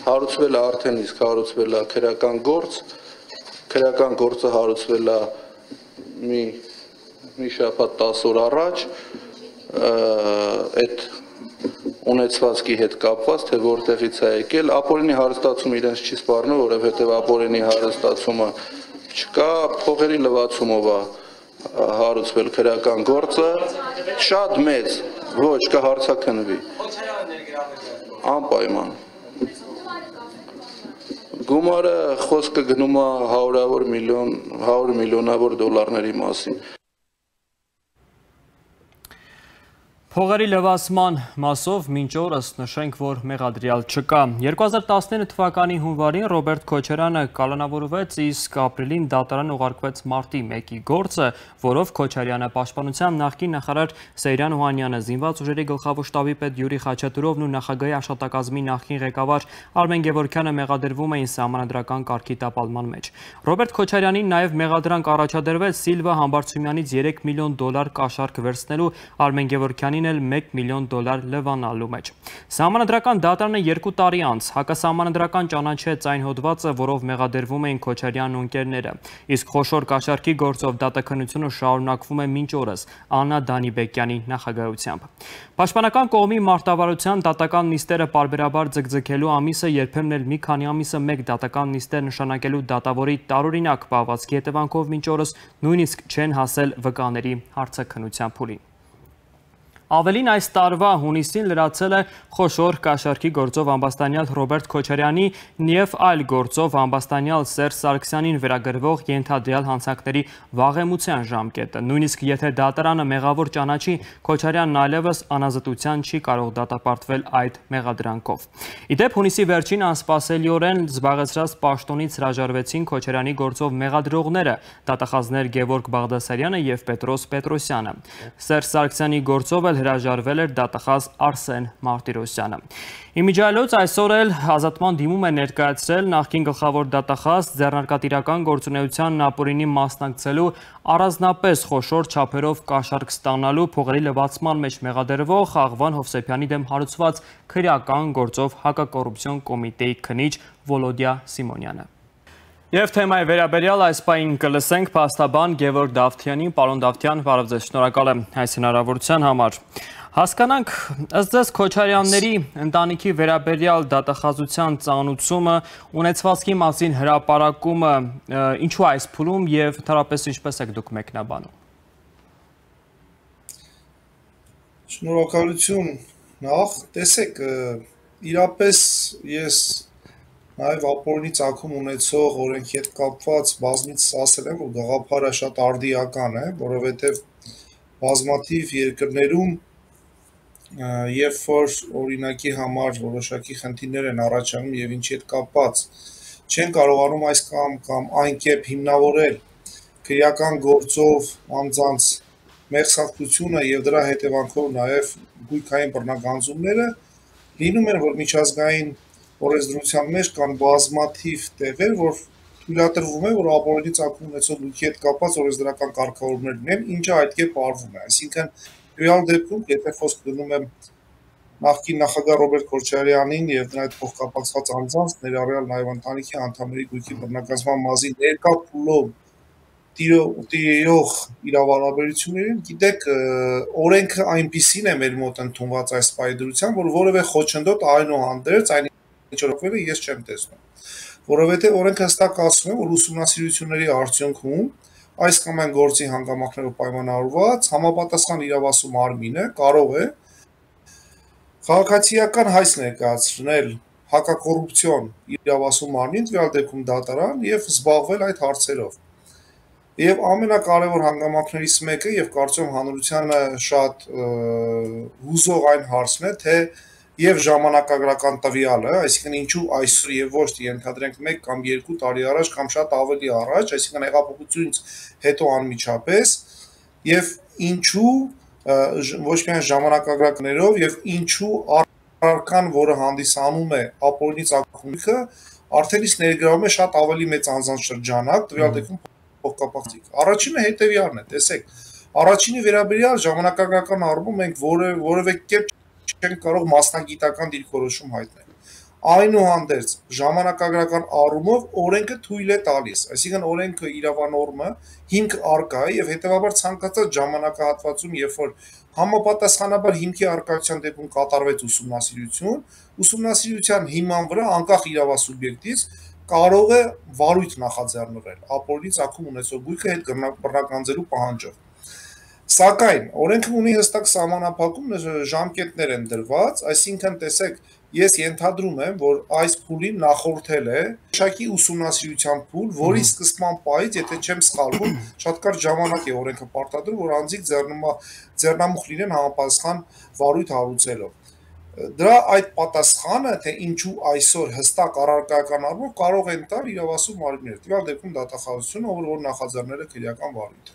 հարուցվել է արդեն իսկ հարուցվել է քրեական գործ, քրեական գործը հարուցվել է մի մի շաբաթ տասը օր առաջ, այդ ունեցվածքի հետ կապված, թե որտեղից է եկել, ապօրինի հարստացում իրենց չի սպառնում, որովհետև ապօրինի հարստացումը չկա, փողերի լվացումով է հարուցվել քրեական գործը, շատ մեծ, ոչ, կհարցաքննվի, անպայման, Գումարը խոսքը գնում է հարյուրավոր միլիոն, հարյուր միլիոնավոր դոլարների մասին։ Փողերի լվացման մասով մինչ օրս նշենք, որ մեղադրյալ չկա։ երկու հազար տասներորդ թվականի հունվարին Ռոբերտ Քոչարյանը կալանավորվեց, իսկ ապրիլին դատարան ուղարկվեց մարտի մեկի գործը, որով Քոչարյանը, Պաշտպանության նախկին նախարար Սեյրան Օհանյանը, Զինված ուժերի գլխավոր շտաբի պետ Յուրի Խաչատուրովն ու նախագահի աշխատակազմի նախկին ղեկավար Արմեն Գևորգյանը մեղադրվում էին սահմանադրական կարգի տապալման մեջ։ Ռոբերտ Քոչարյանին նաև մեղադրանք առաջադրվեց Սիլվա Համբարձումյանից երեք միլիոն դոլար կաշառք վերցնելու, Արմեն Գևորգյանին մեկ միլիոն դոլար լվանալու մեջ։ Սահմանադրական դատարանը երկու տարի անց հակասահմանադրական ճանաչեց այն հոդվածը, որով մեղադրվում էին Քոչարյանն ու ընկերները, իսկ խոշոր կաշառքի գործով դատաքննությունը շարունակվում է մինչ օրս Աննա Դանիբեկյանի նախագահությամբ։ Պաշտպանական կողմի մարտավարության դատական նիստերը պարբերաբար ձգձգելու ամիսը, երբեմն էլ մի քանի ամիսը մեկ դատական նիստեր նշանակելու դատավորի տարօրինակ պահվածքի հետևանքով մինչ օրս նույնիսկ չեն հասել վկաների հարցաքննության փուլին։ Ավելին այս տարվա հունիսին լրացել է խոշոր կաշառքի գործով ամբաստանյալ Ռոբերտ Քոչարյանի և այլ գործով ամբաստանյալ Սերժ Սարգսյանին վերագրվող ենթադրյալ հանցանքների վաղեմության ժամկետը։ Նույնիսկ եթե դատարանը մեղավոր ճանաչի, Քոչարյանն այլևս անազատության չի կարող դատապարտվել այդ մեղադրանքով։ Իդեպ հունիսի վերջին անսպասելիորեն զբաղեցրած պաշտոնից հրաժարվեցին Քոչարյանի գործով մեղադրողները՝ դատախազներ Գևորգ Բաղդասարյանը և Պետրոս Պետրոսյանը։ Սերժ Սարգսյանի գործով էլ հրաժարվել էր դատախազ Արսեն Մարտիրոսյանը։ Իմիջիայլոց այսօր էլ ազատման դիմում է ներկայացրել նախկին գլխավոր դատախազ ձեռնարկատիրական գործունեությանն ապօրինի մասնակցելու, առանձնապես խոշոր չափերով կաշառք ստանալու, փողերի լվացման մեջ մեղադրվող Աղվան Հովսեփյանի դեմ հարուցված քրեական գործով հակակոռուպցիոն կոմիտեի քննիչ Վոլոդիա Սիմոնյանը։ Եվ թեմայի վերաբերյալ այս պահին կլսենք փաստաբան Գևորգ Դավթյանին։ Պարոն Դավթյան, բարև ձեզ, շնորհակալ եմ այս հնարավորության համար։ Հասկանանք, ըստ ձեզ Քոչարյանների ընտանիքի վերաբերյալ դատախազության ծանուցումը, ունեցվածքի մասին հրապարակումը ինչու այս փուլում եւ ընդհանրապես ինչպես եք դուք մեկնաբանում։ Շնորհակալություն։ Նախ տեսեք, իրապես ես նաև ապօրինի ծագում ունեցող օրենքի հետ կապված բազմիցս ասել եմ, որ գաղափարը շատ արդիական է, որովհետև բազմաթիվ երկրներում երբ որ օրինակի համար որոշակի խնդիրներ են առաջանում եւ ինչի հետ կապված չեն կարողանում այս կամ կամ այն կերպ հիմնավորել քրեական գործով անձանց մեղսախտությունը եւ դրա հետևանքով նաև գույքային բռնագանձումները լինում են, որ միջազգային օրենսդրության մեջ կան բազմաթիվ տեղեր, որ թույլատրվում է, որ ապօրինի ծագում ունեցող գույքի հետ կապված օրենսդրական կարգավորումներ լինեն, ինչը այդ կերպ արվում է։ Այսինքն, real դեպքում, եթե խոսք գնում եմ նախկին նախագահ Ռոբերտ Քոչարյանին եւ նրա հետ փոխկապակցված անձանց, ներառյալ նաեւ ընտանիքի անդամների գույքի բռնագանձման մազի ներկա փուլով տիրող իրավարաբերություններին, գիտեք, օրենքը այնպիսին է մեր մոտ ընդունված այս պայդրությամբ, որ որևէ խոչընդոտ այնուհանդերձ այն ինչորոքվելը ես չեմ տեսնում, որովհետև օրենքը հստակ ասում է, որ ուսումնասիրությունների արդյունքում այս կամ այն գործի հանգամանքներով պայմանավորված համապատասխան իրավասու մարմինը կարող է քաղաքացիական հայց ներկայացնել հակակոռուպցիոն իրավասու մարմին, տվյալ դեպքում դատարան եւ զբաղվել այդ հարցերով։ Եվ ամենակարևոր հանգամանքներից մեկը եւ կարծում հանրությանը շատ հուզող այն հարցն է, թե եւ ժամանակագրական տվյալը, այսինքն ինչու այսօր եւ ոչ թե ենթադրենք մեկ կամ երկու տարի առաջ կամ շատ ավելի առաջ, այսինքն հեղափոխությունից հետո անմիջապես եւ ինչու ոչ միայն ժամանակագրականներով եւ ինչու առարկան, որը հանդիսանում է ապօրինի ծագումքը, արդեն իսկ ներգրավում է շատ ավելի մեծ անձանց շրջանակ, տվյալ դեպքում փոխկապակցիկ։ Առաջինը հետեւյալն է, տեսեք, առաջինի վերաբերյալ ժամանակագրական առումով մենք որևէ կերպ չենք կարող մասնագիտական դիրքորոշում հայտնել։ Այնուհանդերձ ժամանակագրական առումով օրենքը թույլ է տալիս, այսինքն օրենքը իրավանորմը հիմք առկա է եւ հետեւաբար ցանկացած ժամանակահատվածում, երբ որ համապատասխանաբար հիմքի առկայության դեպքում կատարվեց ուսումնասիրություն, ուսումնասիրության հիման վրա անկախ իրավասուբյեկտից կարող է վարույթ նախաձեռնվել ապօրինի ծագում ունեցող գույքը հետ բռնագանձելու պահանջով։ Սակայն օրենքը ունի հստակ սահմանափակում, ժամկետներ են դրված, այսինքն տեսեք, ես ենթադրում եմ, որ այս փուլին նախորդել է շակի ուսումնասիրության փուլ, որի սկսման պահից, եթե չեմ սխալվում, շատ կարճ ժամանակ է օրենքը պարտադրում, որ անձիկ ձեռնամուխ լինեն համապատասխան վարույթ հարուցելով։ Դրա այդ պատասխանը, թե ինչու այսօր հստակ առարկայական առումով կարող են տալ իրավասու մարմիններ, տվյալ դեպքում դատախազությունը, ով որ նախաձեռնել է քրեական վարույթը։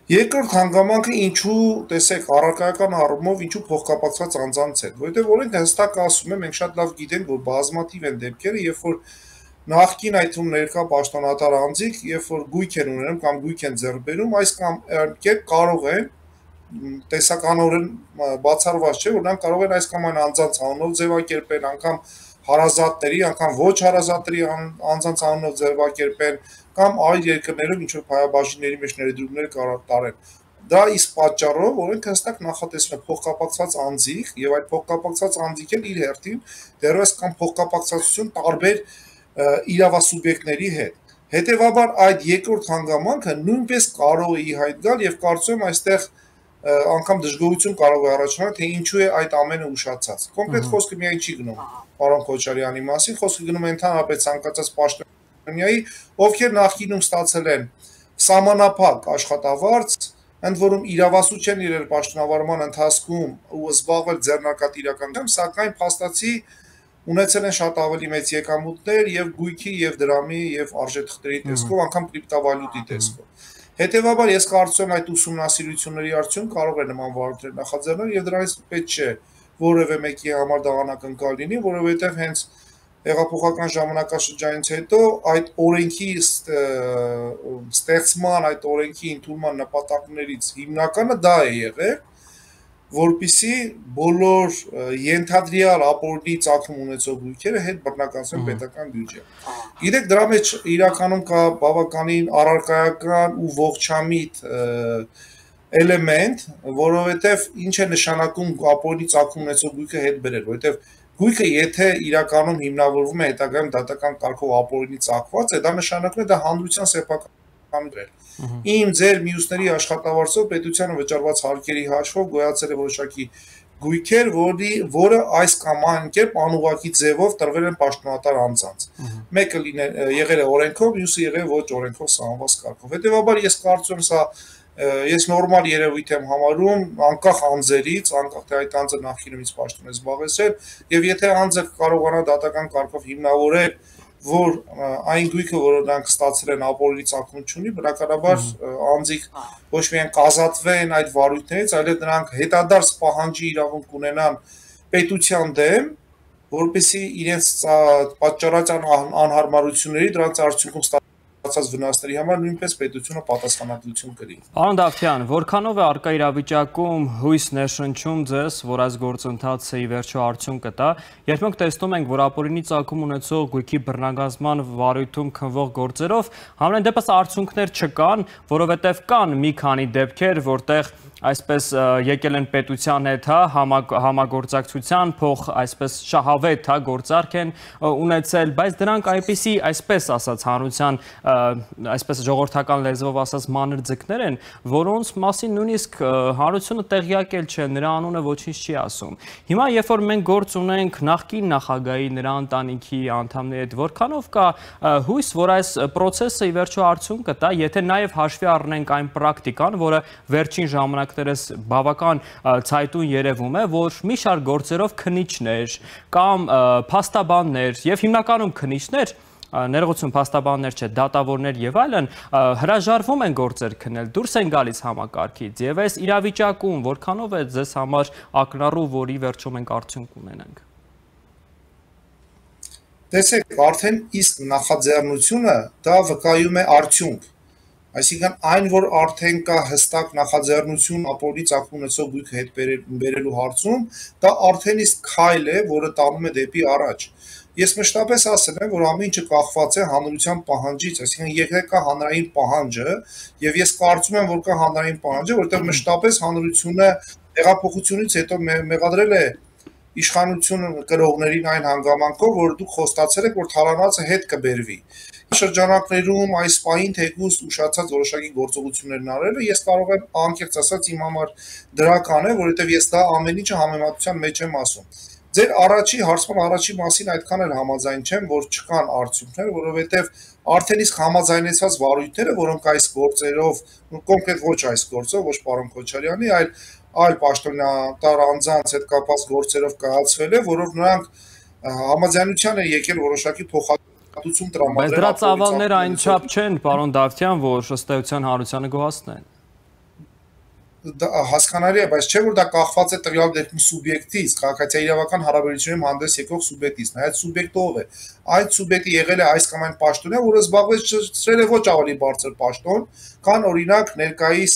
Երկրորդ հանգամանքը ինչու, տեսեք, առարկայական առումով ինչու փոխկապակցված անձանց հետ, որովհետև օրենքը հստակ ասում է, մենք շատ լավ գիտենք, որ բազմաթիվ են դեպքերը, երբ որ նախկին այդ թվում ներկա պաշտոնատար անձիկ, երբ որ գույք են ունենում կամ գույք են ձեռք բերում, այս կամ կերպ կարող են տեսականորեն բացառված չէ, որ նրանք կարող են այս կամ այն անձանց անունով ձևակերպել, անգամ հարազատների, անգամ ոչ հարազատների անձանց անունով ձևակերպել, կամ այլ երկրներում ինչ-որ փայաբաժինների մեջ ներդրումներ տարեն։ Դա իսկ պատճառով օրենքը հստակ նախատեսում է փոխկապակցված անձիկ, եւ այդ փոխկապակցված անձիկն իր հերթին դեռևս կամ փոխկապակցվածություն տարբեր իրավասուբյեկտների հետ։ Հետևաբար այդ երկրորդ հանգամանքը նույնպես կարող է ի հայտ գալ եւ կարծում եմ այստեղ անգամ դժգոհություն կարող է առաջանալ, թե ինչու է այդ ամենը ուշացած։ Կոնկրետ խոսքը միայն չի գնում պարոն Քոչարյանի մասին, խոսքը գնում է ընդհանրապես ցանկացած պաշտոնյայի, ովքեր նախկինում ստացել են սահմանափակ աշխատավարձ, ընդ որում իրավասու չեն իրել պաշտոնավարման ընթացքում ու զբաղվել ձեռնարկատիրականությամբ, սակայն փաստացի ունեցել են շատ ավելի մեծ եկամուտներ եւ գույքի եւ դրամի եւ արժեթղթերի տեսքով, անգամ կրիպտովալյուտի տեսքով։ Հետևաբար ես կարծում եմ այդ ուսումնասիրությունների արդյունք կարող է նման վարույթներ նախաձեռնել եւ դրանից պետք չէ որևէ մեկի համար դա անակնկալ լինի, որովհետեւ հենց հեղափոխական ժամանակաշրջանից հետո այդ օրենքի ստեղծման, այդ օրենքի ընդունման նպատակներից հիմնականը դա է եղել, որպեսզի բոլոր ենթադրյալ ապօրինի ծագում ունեցող գույքերը հետ բռնականացվեն պետական բյուջե։ Գիտեք, դրա մեջ իրականում կա բավականին առարկայական ու ողջամիտ էլեմենտ, որովհետև ինչ է նշանակում ապօրինի ծագում ունեցող գույքը հետ բերել, որովհետև գույքը եթե իրականում հիմնավորվում է հետագայում դատական կարգով ապօրինի ծագված է, դա նշանակում է դա հանրության սեփական Իմ ձեր մյուսների աշխատավարձով պետությանը վճարված հարկերի հաշվով գոյացել է որոշակի գույքեր, որի որը այս կամ այն կերպ անուղղակի ձևով տրվել են պաշտոնատար անձանց։ Մեկը եղել է օրենքով, մյուսը եղել ոչ օրենքով սահմանված կարգով։ Հետևաբար ես կարծում եմ սա ես նորմալ երևույթ եմ համարում, անկախ անձերից, անկախ թե այդ անձը նախկինումից պաշտոն է զբաղեցրել, եւ եթե անձը կարողանա դատական կարգով հիմնավորել որ այն գույքը, որը նրանք ստացել են ապօրինի ծագում չունի, բնականաբար անձիկ ոչ միայն կազատվեն այդ վարույթներից, այլև նրանք հետադարձ պահանջի իրավունք ունենան պետության դեմ, որպեսզի իրենց պատճառած անհարմարությունների դրանց արդյունքում ստացած վնասների համար նույնպես պետությունը պատասխանատվություն կրի։ Պարոն Դավթյան, որքանով է առկա իրավիճակում հույս ներշնչում ձեզ, որ այս գործընթացը ի վերջո արդյունք կտա, երբ մենք տեսնում ենք, որ ապօրինի ծագում ունեցող գույքի բռնագազման վարույթում քննվող գործերով համենայն դեպս արդյունքներ չկան, որովհետև կան մի քանի դեպքեր, որտեղ այսպես եկել են պետության հետ, հա, համագործակցության փող, այսպես շահավետ, հա, գործարք են ունեցել, բայց դրանք այնպիսի, այսպես ասած, հանրության, այսպես ժողովրդական լեզվով ասած մանր ձկներ են, որոնց մասին նույնիսկ հանրությունը տեղյակ էլ չէ, նրա անունը ոչինչ չի ասում։ Հիմա երբ որ մենք գործ ունենք նախկին նախագահի, նրա ընտանիքի անդամների հետ, որքանով կա հույս, որ այս process-ը ի վերջո արդյունք կտա, եթե նաև հաշվի առնենք այն պրակտիկան, որը վերջին ժամանակ բավական ցայտուն երևում է, որ մի շարք գործերով քննիչներ կամ փաստաբաններ եւ հիմնականում քննիչներ, ներողություն, փաստաբաններ չէ, դատավորներ եւ այլն հրաժարվում են գործեր քննել, դուրս են գալիս համակարգից եւ այս իրավիճակում որքանով է ձեզ համար ակնառու, որ ի վերջո մենք արդյունք ունենանք։ Տեսեք, արդեն իսկ նախաձեռնությունը դա վկայում է արդյունք։ Այսինքն այն, որ արդեն կա հստակ նախաձեռնություն ապօրինի ծագում ունեցող գույքը հետ բերելու հարցում, դա արդեն իսկ քայլ է, որը տանում է դեպի առաջ։ Ես մշտապես ասել եմ, որ ամեն ինչը կախված է հանրության պահանջից, այսինքն եթե կա հանրային պահանջը, եւ ես կարծում եմ, որ կա հանրային պահանջը, որտեղ մշտապես հանրությունը հեղափոխությունից հետո մեղադրել է իշխանություն կրողներին այն հանգամանքով, որ դուք խոստացել եք, որ թալանացը հետ կբերվի։ Շրջանակներում այս պահին թեկուզ ուշացած որոշակի գործողություններն արելը ես կարող եմ անկեղծ ասած իմ համար դրական է, որովհետև ես դա ամեն ինչը համեմատության մեջ եմ ասում։ Ձեր առաջի հարցման առաջի մասին այդքան էլ համաձայն չեմ, որ չկան արդյունքներ, որովհետև արդեն իսկ համաձայնեցած վարույթները, որոնք այս գործերով, կոնկրետ ոչ այս գործով, ոչ պարոն Քոչարյանի, այլ այլ պաշտոնատար անձանց հետ կապված գործերով կայացվել է, որով նրանք համաձայնության են եկել որոշակի փոխհատուցում տրամադրել։ Բայց դրա ծավալները այնչափ չեն, պարոն Դավթյան, որ ըստ էության Հարությանը գոհացնեն։ Հասկանալի է, բայց չէ որ դա կախված է տվյալ դեպքում սուբյեկտից, քաղաքացիական հարաբերությունում հանդես եկող սուբյեկտից, այդ սուբյեկտը ով է։ Այդ սուբյեկտը եղել է այս կամ այն պաշտոնյա, որը զբաղեցրել է ոչ ավելի բարձր պաշտոն, քան օրինակ ներկայիս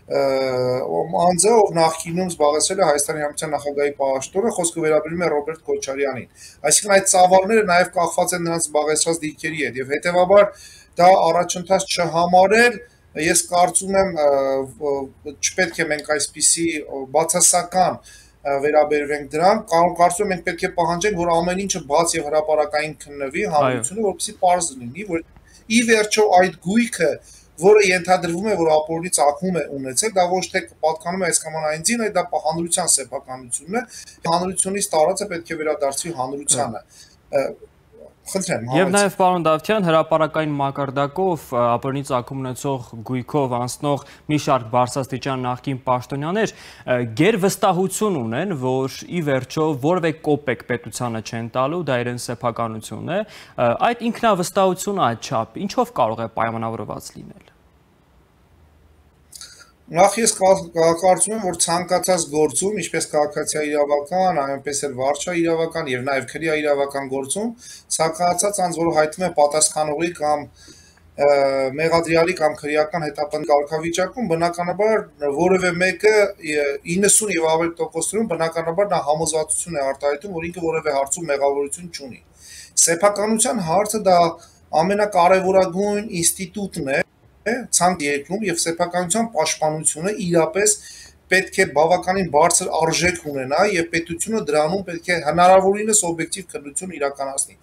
անձը, ով նախկինում զբաղեցրել է Հայաստանի Հանրապետության նախագահի պաշտոնը, խոսքը վերաբերում է Ռոբերտ Քոչարյանին։ Այսինքն այդ ծավալները նաև կախված են նրանց զբաղեցրած դիրքերի հետ եւ հետեւաբար դա առաջընթաց չհամարել Ես կարծում եմ չպետք է մենք այսպիսի բացասական վերաբերվենք դրան, կարծում եմ մենք պետք է պահանջենք, որ ամեն ինչը բաց եւ հրապարակային քննվի հանրությունը, որպեսզի պարզ լինի, որ ի վերջո այդ գույքը, որը ենթադրվում է, որ ապօրինի ծագում է ունեցել, դա ոչ թե պատկանում է այս կամ այն ձին, այլ դա հանրության սեփականությունն է, հանրությունից տարածը պետք է վերադարձվի հանրությանը։ Եվ նաև պարոն Դավթյան, հրապարակային մակարդակով ապօրինի ծագում ունեցող գույքով անցնող մի շարք բարձրաստիճան նախկին պաշտոնյաներ գերվստահություն ունեն, որ ի վերջո որևէ կոպեկ պետությանը չեն տալու, դա իրենց սեփականությունն է, այդ ինքնավստահությունը այդ չափ ինչով կարող է պայմանավորված լինել։ Նախ ես կարծում եմ, որ ցանկացած գործում, ինչպես քաղաքացիական իրավական, այնպես էլ վարչական իրավական եւ նաեւ քրեական իրավական գործում, ցանկացած անձ, որը հայտնվում է պատասխանողի կամ մեղադրյալի կամ քրեական հետապնդի կարգավիճակում, բնականաբար որևէ մեկը իննսուն եւ ավելի տոկոսներում բնականաբար նա համոզվածություն է արտահայտում, որ ինքը որևէ հարցում մեղավորություն չունի։ Սեփականության հարցը դա ամենակարևորագույն ինստիտուտն է ցանկ երկրում եւ սեփականության պաշտպանությունը իրապես պետք է բավականին բարձր արժեք ունենա եւ պետությունը դրանում պետք է հնարավորինս օբյեկտիվ քննություն իրականացնի։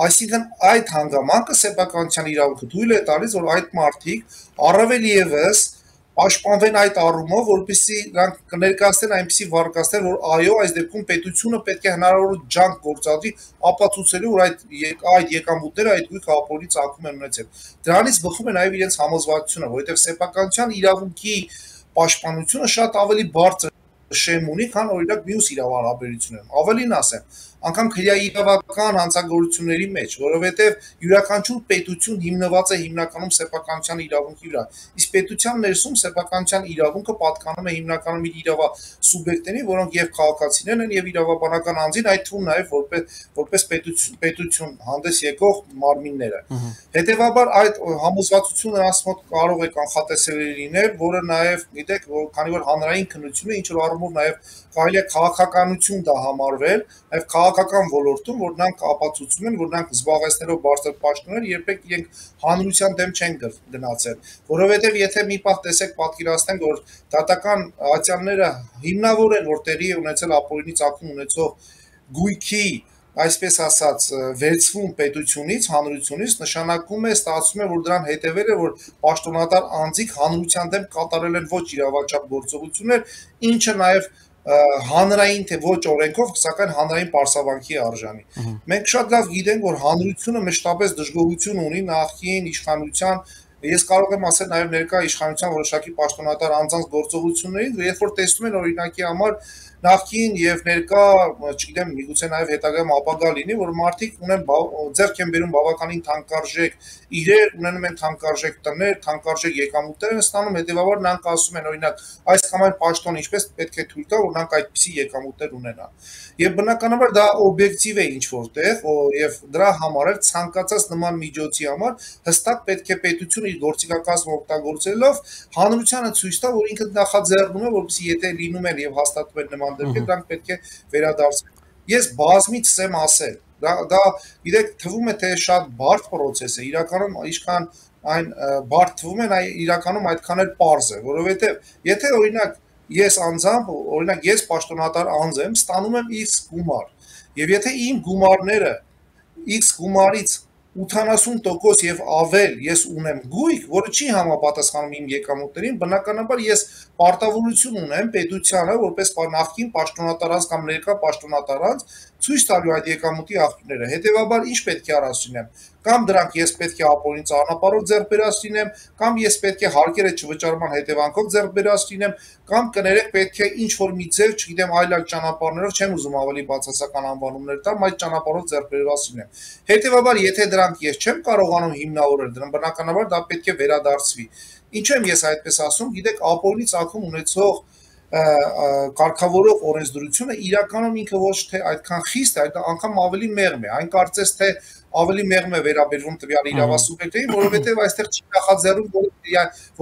Այսինքն այդ հանգամանքը սեփականության իրավունքը թույլ է տալիս, որ այդ մարդիկ առավել եւս պաշտպանվեն այդ առումով, որպեսզի նրանք կներկայացնեն այնպիսի վարկածներ, որ այո, այս դեպքում պետությունը պետք է հնարավոր ջանք գործադրի ապացուցելու, որ այդ այդ եկամուտները այդ գույքը ապօրինի ծագում են ունեցել։ Դրանից բխում է նաև իրենց համոզվածությունը, որովհետև սեփականության իրավունքի պաշտպանությունը շատ ավելի բարձր շեմ ունի, քան օրինակ մյուս իրավահարաբերություններում։ Ավելին ասեմ, անգամ քրեական հանցագործությունների մեջ, որովհետև յուրաքանչյուր պետություն հիմնված է հիմնականում սեփականության իրավունքի վրա։ Իսկ պետության ներսում սեփականության իրավունքը պատկանում է հիմնականում իր իրավա սուբյեկտներին, որոնք եւ քաղաքացիներն են եւ իրավաբանական անձին, այդ թվում նաեւ որպես որպես պետություն պետություն հանդես եկող մարմինները։ Հետևաբար այդ համոզվածությունը նրանց մոտ կարող է կանխատեսելի լինել, որը նաեւ գիտեք, որ քանի որ հանրային քննություն է, ինչ որ առումով նաեւ կարելի է քաղաքականություն դա համարվել, նաեւ քաղաքական ոլորտում, որ նրանք ապացուցում են, որ նրանք զբաղեցնելով բարձր պաշտոններ երբեք իրենք հանրության դեմ չեն գնացել, որովհետև եթե մի պահ տեսեք պատկերացնենք, որ դատական ատյանները հիմնավոր են, որ տեղի է ունեցել ապօրինի ծագում ունեցող գույքի, այսպես ասած, վերցվում պետությունից, հանրությունից, նշանակում է, ստացվում է, որ դրան հետևել է, որ պաշտոնատար անձիկ հանրության դեմ կատարել են ոչ իրավաչափ գործողություններ, ինչը նաև հանրային թե ոչ օրենքով, սակայն հանրային պարսավանքի արժանի։ Մենք շատ լավ գիտենք, որ հանրությունը մշտապես դժգոհություն ունի նախկին իշխանության, ես կարող եմ ասել նաև ներկա իշխանության որոշակի պաշտոնատար անձանց գործողություններին, երբ որ տեսնում են օրինակի համար նախկին եւ ներկա, չգիտեմ, միգուցե նաև հետագայում ապագա լինի, որ մարդիկ ունեն ձեռք են բերում բավականին թանկարժեք իրեր, ունենում են թանկարժեք տներ, թանկարժեք եկամուտներ են ստանում, հետեւաբար նրանք ասում են օրինակ այս կամ այն պաշտոն ինչպես պետք է թույլ տա, որ նրանք այդպիսի եկամուտներ ունենան։ Եվ բնականաբար դա օբյեկտիվ է ինչ որտեղ, եւ դրա համար էլ ցանկացած նման միջոցի համար հստակ պետք է պետությունը իր գործիքակազմը օգտագործելով հանրությանը ցույց տա, որ ինքը նախաձեռնում է, որպեսզի եթե լինում են եւ հաստատվում են նման դեպքեր, դրանք պետք է վերադարձվեն։ Ես բազմից եմ ասել, դա դա գիտեք, թվում է թե շատ բարդ process է, իրականում ինչքան այն բարդ թվում է, իրականում այդքան էլ պարզ է, որովհետեւ եթե օրինակ ես անձամբ, օրինակ ես պաշտոնատար անձ եմ, ստանում եմ X գումար, եւ եթե իմ գումարները X գումարից ութանասուն տոկոս եւ ավել ես ունեմ գույք, որը չի համապատասխանում իմ եկամուտներին, բնականաբար ես պարտավորություն ունեմ պետությանը, որպես նախկին պաշտոնատարած կամ ներկա պաշտոնատարած ցույց տալու այդ եկամուտի աղբյուրները։ Հետևաբար ինչ պետք է առաջ լինեմ, կամ դրանք ես պետք է ապօրինի ծանապարհով ձեռք բերած լինեմ, կամ ես պետք է հարկերը չվճարման հետևանքով ձեռք բերած լինեմ, կամ կներեք պետք է ինչ որ մի ձև, չգիտեմ, այլ այլ ճանապարհներով, չեմ ուզում ավելի բացասական անվանումներ տամ, այդ ճանապարհով ձեռք բերած լինեմ։ Հետևաբար, եթե դրանք ես չեմ կարողանում հիմնավորել, դրան բնականաբար դա պետք է վերադարձվի։ Ինչու եմ ես այդպես ասում, գիտեք, ապօրինի ծագում ունեցող կարգավորող օրենսդրությունը իրականում ինքը ոչ թե այդքան խիստ է, այդ անգամ ավելի մեղմ է, այն կարծես թե ավելի մեղմ է վերաբերվում տվյալ իրավասուբյեկտներին, որովհետև այստեղ չի նախաձեռնում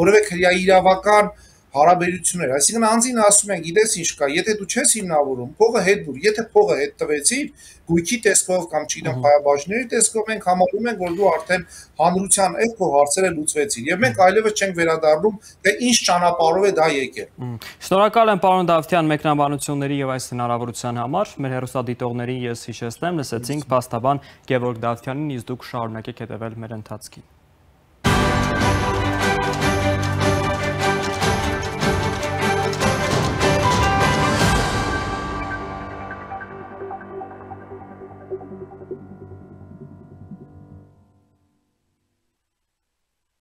որևէ քրեաիրավական հարաբերություններ, այսինքն անձին ասում են, գիտես ինչ կա, եթե դու չես հիմնավորում, փողը հետ դուր, եթե փողը հետ տվեցիր, գույքի տեսքով կամ չգիտեմ խայաբաժների տեսքով մենք համարում ենք, որ դու արդեն հանրության հետ քո հարցերը լուծվեցիր, եւ մենք այլևս չենք վերադառնում, թե ինչ ճանապարհով է դա եկել։ Շնորհակալ եմ պարոն Դավթյան մեկնաբանությունների եւ այս հնարավորության համար։ Մեր հեռուստադիտողներին ես հիշեցնեմ, լսեցինք փաստաբան Գևորգ Դավթյանին, իսկ դուք շարունակեք հետևել մեր ընթացքին։